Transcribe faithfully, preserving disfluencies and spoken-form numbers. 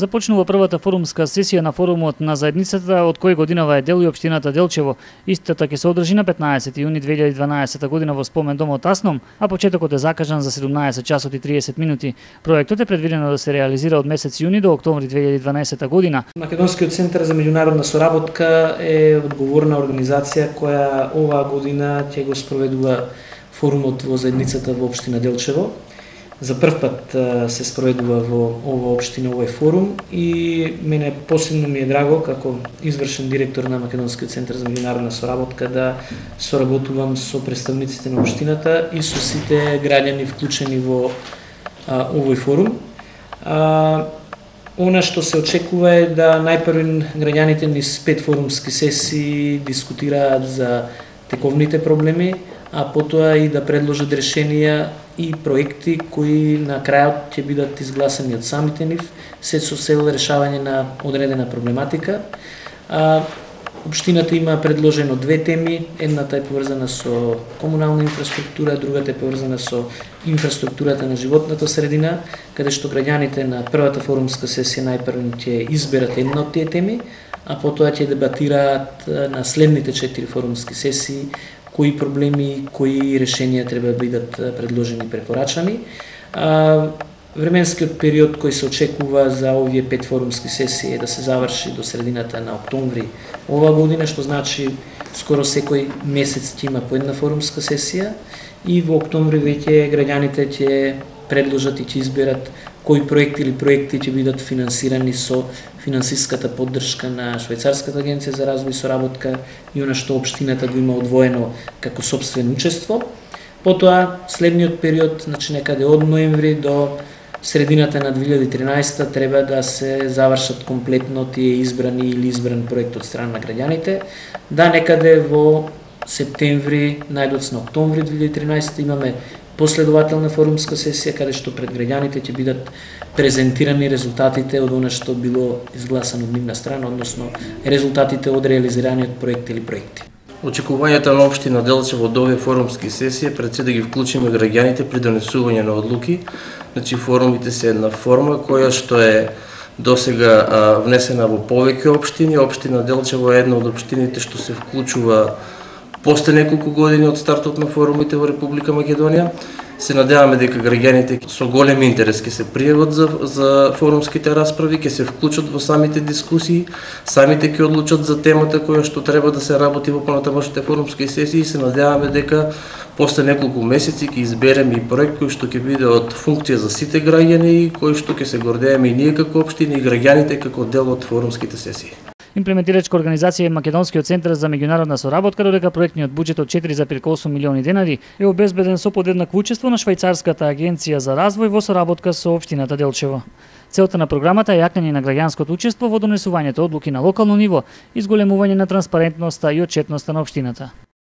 Започнува првата форумска сесија на форумот на заедницата, од кој годинава е дел и општината Делчево. Истата ќе се одржи на петнаесети јуни две илјади и дванаесета година во спомен домот Асном, а почетокот е закажан за седумнаесет часот и триесет минути. Проектот е предвидено да се реализира од месец јуни до октомври две илјади и дванаесета година. Македонскиот центар за меѓународна соработка е одговорна организација која оваа година ќе го спроведува форумот во заедницата во општина Делчево. За прв пат се спроведува во ова општина овој форум и мене посебно ми е драго како извршен директор на Македонскиот центар за меѓународна соработка да соработувам со представниците на општината и со сите граѓани вклучени во а, овој форум. А, Она што се очекува е да најпрви граѓаните низ пет форумски сесии дискутираат за тековните проблеми, а потоа и да предложат решенија и проекти кои на крајот ќе бидат изгласани од самите нив, се со цел решавање на одредена проблематика. А, Општината има предложено две теми, едната е поврзана со комунална инфраструктура, другата е поврзана со инфраструктурата на животната средина, каде што граѓаните на првата форумска сесија најпрво ќе изберат една од тие теми, а потоа ќе дебатираат на следните четири форумски сесии кои проблеми, кои решенија треба да бидат предложени и препорачани. А, Временскиот период кој се очекува за овие пет форумски сесии е да се заврши до средината на октомври оваа година, што значи скоро секој месец ќе има по една форумска сесија и во октомври веќе граѓаните ќе предложат и ќе изберат кои проекти или проекти ќе бидат финансирани со финансиската поддршка на Швајцарската агенција за развој и соработка и она што општината го има одвоено како сопствено учество. Потоа следниот период, значи некаде од ноември до средината на две илјади и тринаесета треба да се завршат комплетно тие избрани или избран проект од страна на граѓаните. Да, некаде во септември, најдоцна октомври две илјади и тринаесета имаме последователна форумска сесија каде што пред граѓаните ќе бидат презентирани резултатите од она што било изгласано од нивна страна, односно резултатите од реализираниот проект или проекти. Очекувањата на општина Делчево од овие форумски сесии пред се да ги вклучиме граѓаните при донесување на одлуки. Значи форумите се една форма која што е досега а, внесена во повеќе општини. Општина Делчево е една од општините што се вклучува после неколку години од стартот на форумите во Република Македонија. Се надеваме дека граѓаните со голем интерес ќе се пријават за, за форумските расправи, ќе се вклучат во самите дискусии, самите ќе одлучат за темата која што треба да се работи во понатамошните форумски сесии и се надеваме дека после неколку месеци ќе избереме и проект кој што ќе биде од функција за сите граѓани и кој што ќе се гордееме и ние како општини и граѓаните како дел од форумските сесии. Имплементирачка организација е Македонскиот центар за меѓународна соработка, додека проектниот буџет од четири зарез осум милиони денари е обезбеден со подеднакво учество на Швајцарската агенција за развој во соработка со општината Делчево. Целта на програмата е јакнење на граѓанското учество во донесувањето одлуки на локално ниво и зголемување на транспарентноста и отчетноста на општината.